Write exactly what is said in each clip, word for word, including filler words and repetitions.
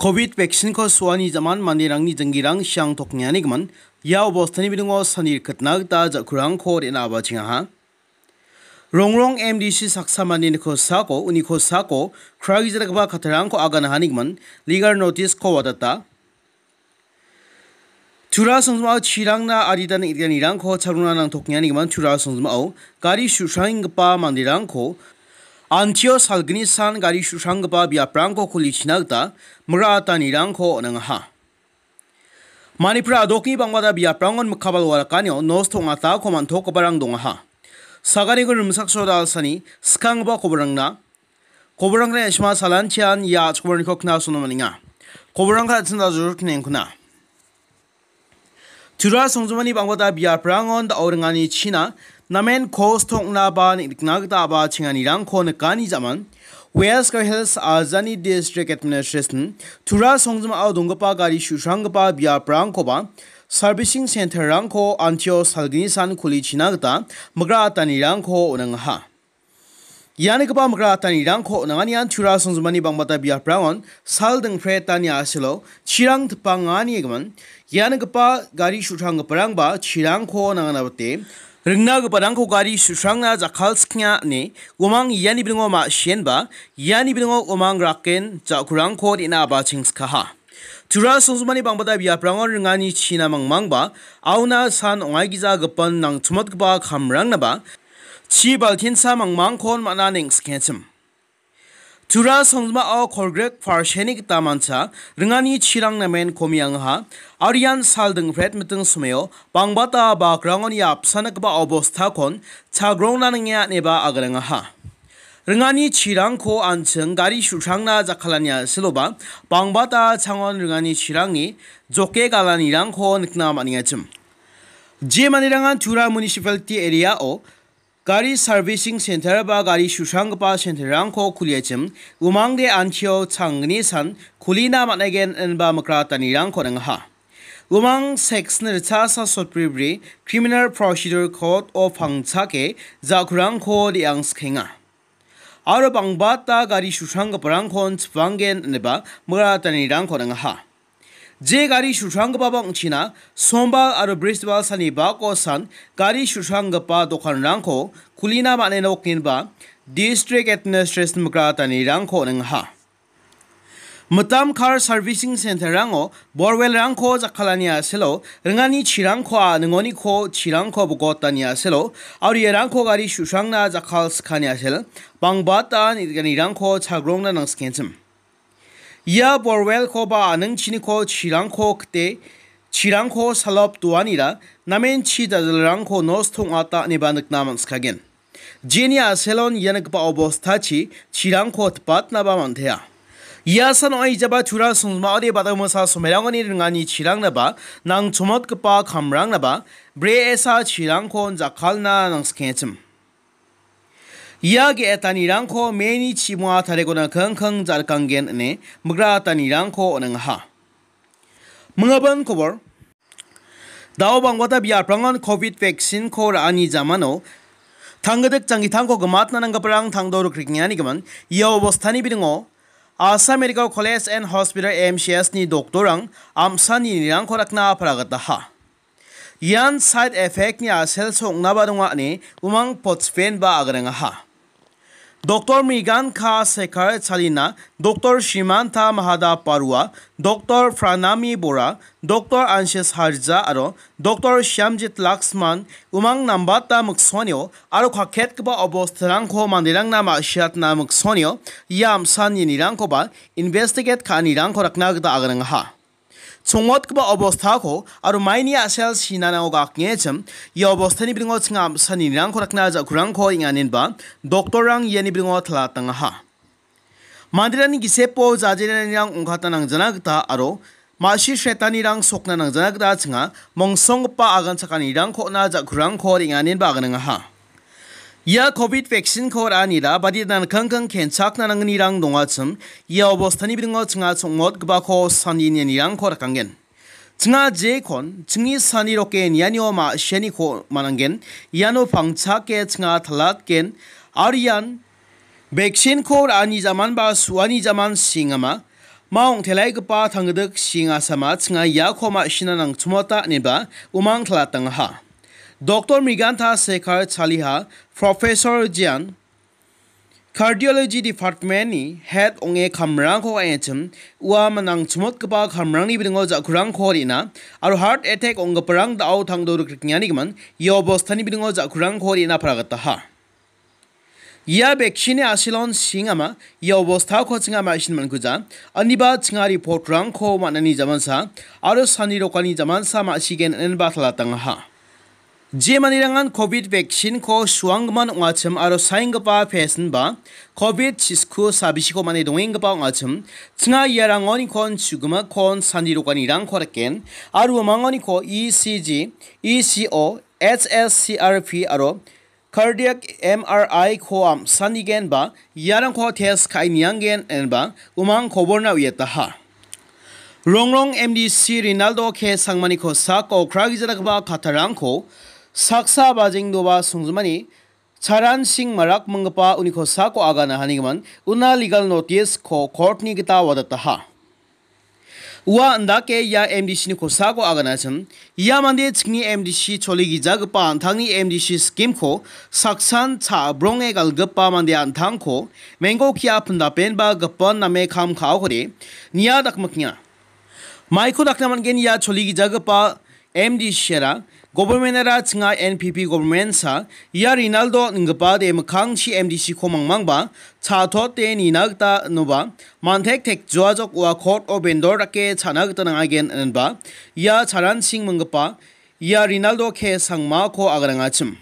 Covid vaccine-ko suani jaman manderangni jinggirang siang toknianigimin ia obostani bidingo sani rikitna gita ja·kurangko re·na abachengaha. Rongrong M D C saksa mandeni kosako, uni kosako kraigijaragipa kattarangko aganahanigimin legal notice-ko watata. Tura songjimao chirangna adita neng·giparangko chagrona nangtoknianigimin Tura songjimao gari su·sranggipa manderangko antio salgni san gari su·sranggipa biaprangko kulichina gita migratanirangko on·angaha. Manipur adokni bangbata biaprangon mikka balwa rakanio nosto ong·atako man·tokgiparang dongaha. Saganiko rimsak soda alsani skanggipa koborangna, koborangna esma salantian ia a·chikmarangko knasono man·enga. Koborangko an·ching dajur knengkuna. Tura songjimani bangbata biaprangon da·o ringani china namen kos toknaba nikna gita aba chenganirangko nikani jaman West Garo Hills Ajani District Administration Tura songjimao donggipa gari su·sranggipa biaprangkoba servicing center-rangko antio salgni san kulichina gita migratanirangko on·angaha. Ianigipa migratanirangko on·anganian Tura songjimani bangbata biaprangon sal dingpretani a·selo chirang tipanganigimin ianigipa gari su·sranggiparangba chirangko nangana bite ringna giparangko gari su·srangna jakkalskenga ine uamang iani bidingo ma·sienba iani bidingo uamang raken ja·kurangko re·na abachengskaha. Tura songjimani bangbata biaprangon ringani china mangmangba auna san ong·aigija gipin nangchimotgipa kamrangnaba chi baltinsa mangmangkon man·a neng·skengchim. Tura songjimao kolgrek parseni gita mancha ringani chirang namen komiangaha, aro ian sal dingpret miting somao bangbata bakrangon ia apsan dakgipa obostakon chagrongna nange ineba aganangaha. Ringani chirangko an·ching gari su·srangna jakkalani a·seloba bangbata changon ringani chirangni joke galanirangko nikna man·engachim. Je manderangan Tura Municipality Area-o gari servicing center ba gari su·sranggipa center-rangko kuliachim, umangde antio changgni san kulina man·aigen inba migratanirangko on·angaha. Umang section ritchasa sotbribri Criminal Procedure Code-o pangchake ja·kurangko re·angsikenga. Aro bangbata gari su·sranggiparangkon chipanggen ineba migratanirangko on·angaha. Je gari su·sranggipaba ong·china, Sombal aro Bristbal salni bako san gari su·sranggipa dokanrangko kulina man·enok inba District Administration migratanirangko on·angaha. Mitam kar servicing center-rango borwelrangko jakkalani a·selo ringani chirangko a·ningoniko chirangko bogotani a·selo aro iarangko gari su·srangna jakkalskani a·sel bangbata neng·giparangko chagrongna nangskengchim. Ia borwelkoba a·ningchiniko chirangko kite, chirangko salop doanira namen chi dajilrangko nosto ong·ata ineba nikna man·sikagen. Jeni a·selon ia nikgipa obostachi chirangko tipatnaba man·tea. Ia san ong·a ijaba Tura songjimaode badamasa somerangoni ringani chirangnaba nangchomotgipa kamrangnaba bre·esa chirangko jakkalna nangskengchim. Ia ge·etanirangko meni chimonga tarigona kingking jarkanggen ine migratanirangko on·engaha. Mingabin kobor. Dao bangbata biaprangan covid vaccine-ko ra·ani jamano tanggidik janggitangko gimatna nanggiparang tangdo rikrikenganigimin ia obostani biringo Assam Medical College and Hospital, A M C H ni doktorrang am·sanirangko rakna aparagataha. Ian side effect-ni a·sel song·naba donga ine umang potspenba agrengaha. Doktor Mrigan K Sekar Chalina, Doktor Shrimanta Mahada Parua, Doktor Pranami Bora, Doktor Anshis Harja aro Doktor Shyamjit Laxman umang nambata miksonio aro kaketgipa obostarangko manderangna ma·siatna miksonio ia am·sanirangkoba investigate ka·anirangko rakna gita agrengaha. Chongmotgipa obostako aro maini a·sel sinanao gakengechim ia obostani biringo chinga am·sanirangko rakna ja·kurangko ing·aninba doktorrang iani biringo talatangaha. Manderangni gisepo jajenanirang ongkatna nangjana gita aro ma·si sretanirang sokna nangjana gita chinga mongsonggipa agan chakanirangko on·a ja·kurangko ing·aninba agrengaha. Ia covid vaccine-ko ra·anira baditna nikangkang kenchakna nangnirang dongachim, ia obostani biringo chinga chongmotgipako sani nianirangko rakanggen. Chinga jekon, chingni sani roke nianio ma·sianiko mananggen, iano pangchake chinga talatgen, aro ian vaccine-ko ra·ani jaman ba su·ani jaman singama, ma ong·telaigipa tanggidik sing asama chinga iako ma·sina nangchimota ineba umang talatangaha. Doktor Mriganta Sekar Chaliha, Professor Jian, Cardiology Department-ni head ong·e kamrangko ka·enchim, ua manang chimotgipa kamrangni bidingo ja·kurangko re·na aro heart attack ong·giparang da·o tangdo rikrikengani gimin ia obostani bidingo ja·kurangko re·na paragataha. Ia vaccine-ni asilon singama ia obostako chinga ma·sin man·kuja, aniba chinga report-rangko man·ani jamansa aro sani rokani jamansa ma·sigen ineba talatangaha. Je manirangan covid vaccine-ko suanggimin ong·achim aro saenggipa pesin ba covid chisku sabisiko mane dongenggipa ong·achim, chinga iarangonikon chu·gimakkon sandi rokanirangko riken, aro umangoniko E C G, E C O, H S C R P aro cardiac M R I-ko am·sanigen ba iarangko test ka·e nianggen ineba umang koborna uiataha. Rongrong M D C Rinaldo K Sangmani kosako kragijagipa kattarangko saksa bajengdoba songjinmani Charan Singh Marak minggipa uni kosako agana hanigimin una legal notice-ko court-ni gita wadataha. Ua indake ia M D C-ni kosako aganachim, ia mande chingni M D C choli gijagipa an·tangni M D C scheme-ko saksan cha·bronge galgipa mande an·tangko menggo kia pindapenba gipin name kam ka·okode nia dakmikenga. Maiko dakna man·gen ia choli gijagipa M D C-ara government-ara chinga N P P government-sa ia Rinaldo ninggipa de mikkangchi M D C-ko mangmangba cha·tote nina gita inoba man·tek tekjoajok ua court-o bendor dake cha·na gita nangagen inenba ia Charan Singh minggipa ia Rinaldo K Sangmako aganangachim.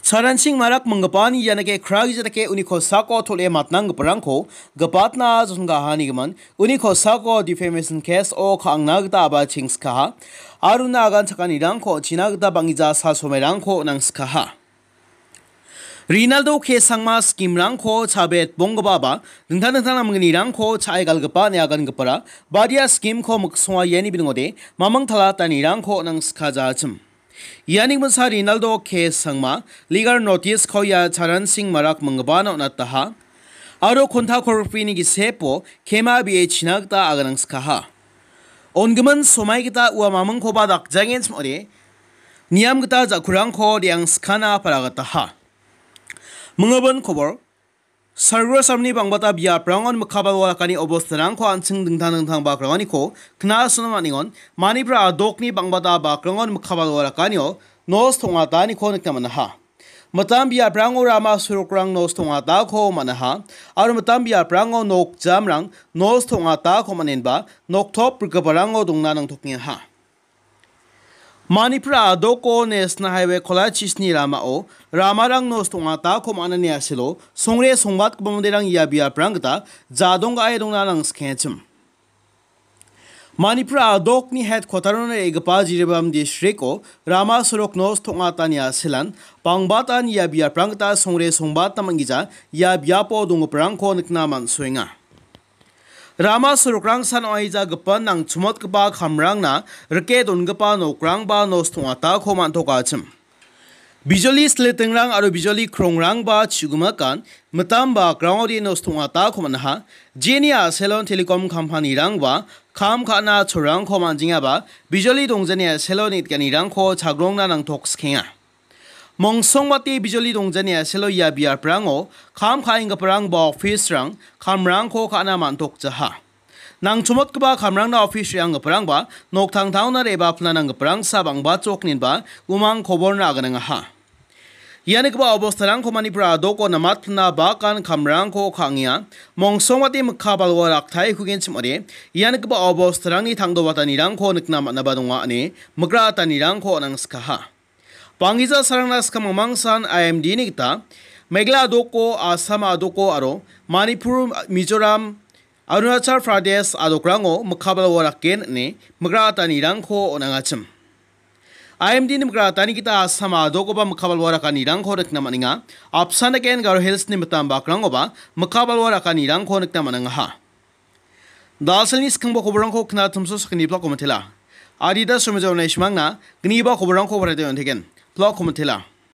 Charan Singh Marak minggipani ianike kragija dake uni kosako tol·e matnanggiparangko gipatna jotongahanigimin uni kosako defamation case-o ka·angna gita aba chengskaha. Aro una agan chakanirangko china gita bang·gija salsomairangko nangsikaha. Rinaldo K Sangma scheme-rangko chabet bonggipaba dingtang dingtang namgnirangko cha·e galgipa ine agangipara badia scheme-ko miksonga iani bidingode maming talatanirangko nangsika jachim. Iani gimsa Rinaldo K Sangma legal notice-ko ia Charan Singh Marak minggipana on·ataha. Aro konta korpini gisepo kema bie china gita aganangsikaha. Ongimin somai gita ua mamingkoba dakjangenchim ong·ode, niam gita ja·kurangko de·angsikana paragataha. Mingibin kobor, Sargro samni bangbata biaprangon mikka balwa rakani obostarangko an·ching dingtang dingtang bakrangoniko knasona man·engon, Manipur a·dokni bangbata bakrangon mikka balwa rakanio nos tong·ataniko nikna man·aha. Mitam biaprango rama sorokrang nos tong·atako man·aha, aro mitam biaprango nok jamrang nos tong·atako man·enba noktop rikgiparango dongna nangtokengaha. Manipur a·doko National Highway kolachis-ni ramao ramarang nos tong·atako man·ani asilo songre songbatgipa manderang ia biaprang gita jadong ga·e dongna nangsikengachim. Manipur a·dokni headquarter-ona re·gipa Jiribam district-o rama sorok nos tong·atani asilan bangbatan ia biaprang gita songre songbatna man·gija ia biapo donggiparangko nikna man·soenga. Rama sorokrangsan ong·aija gipin nangchimotgipa kamrangna rike dongipa nokrangba nos tong·atako man·tokachim. Bijoli silitingrang aro bijoli krongrangba chu·gimakan mitam bakrangode nos tong·atako man·aha. Jeni a·selon telecom company-rangba kam ka·na cholrangko man·jengaba bijoli dongjani a·selon neng·giparangko chagrongna nangtoksikenga. Mongsongbate bijoli dongjani a·selo ia biaprango kam ka·enggiparang ba office-rang kamrangko ka·na man·tokjaha. Nangchomotgipa kamrangna office re·anggiparangba noktangtangona re·bapilna nanggiparangsa bang·bachok inenba umang koborna aganangaha. Ia nikgipa obostarangko Manipur a·doko namatpilna bakan kamrangko ka·enga. Mongsongbate mikka balwa raktaikogenchim ong·ode, ia nikgipa obostarangni tangdobatanirangko nikna man·aba donga ine migratanirangko on·angskaha. Bang·gija sarangna skang mangmangsan I M D-ni gita Meghalaya a·doko, Assam a·doko aro Manipur, Mizoram, Arunachal Pradesh a·dokrango mikka balwa raken ine migratanirangko on·angachim. I M D-ni migrantani gita Assam a·dokoba mikka balwa rakanirangko nikna man·enga. Apsan daken Garo Hills-ni mitam bakrangoba mikka balwa rakanirangko nikna man·angaha. Daselni skangba koborangko kna tumso sakgni plak komitela. Adida somija onai simangna gniba koborangko barate on·teken. Plak komitela.